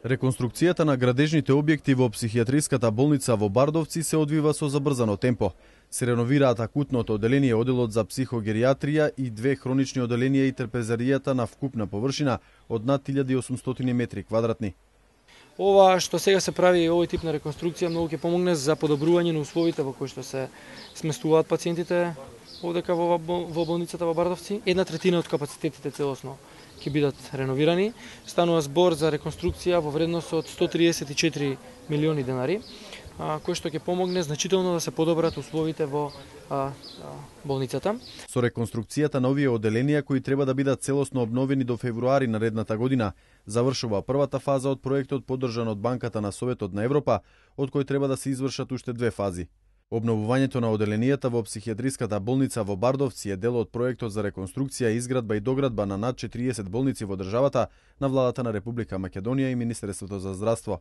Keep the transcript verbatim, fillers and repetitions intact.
Реконструкцијата на градежните објекти во психијатриската болница во Бардовци се одвива со забрзано темпо. Се реновираат акутното оделение, оделот за психогеријатрија и две хронични оделенија и трпезаријата на вкупна површина од над илјада и осумстотини метри квадратни. Ова што сега се прави, овој тип на реконструкција многу ќе помогне за подобрување на условите во кои што се сместуваат пациентите овдека во, во болницата во Бардовци. Една третина од капацитетите целосно ќе бидат реновирани. Станува збор за реконструкција во вредност од сто триесет и четири милиони денари, кој што ќе помогне значително да се подобрат условите во а, а, болницата. Со реконструкцијата на овие оделенија, кои треба да бидат целосно обновени до февруари наредната година, завршува првата фаза од проектот поддржан од Банката на Советот на Европа, од кој треба да се извршат уште две фази. Обновувањето на оделенијата во психијатриската болница во Бардовци е дел од проектот за реконструкција, изградба и доградба на над четириесет болници во државата на владата на Република Македонија и Министерството за здравство.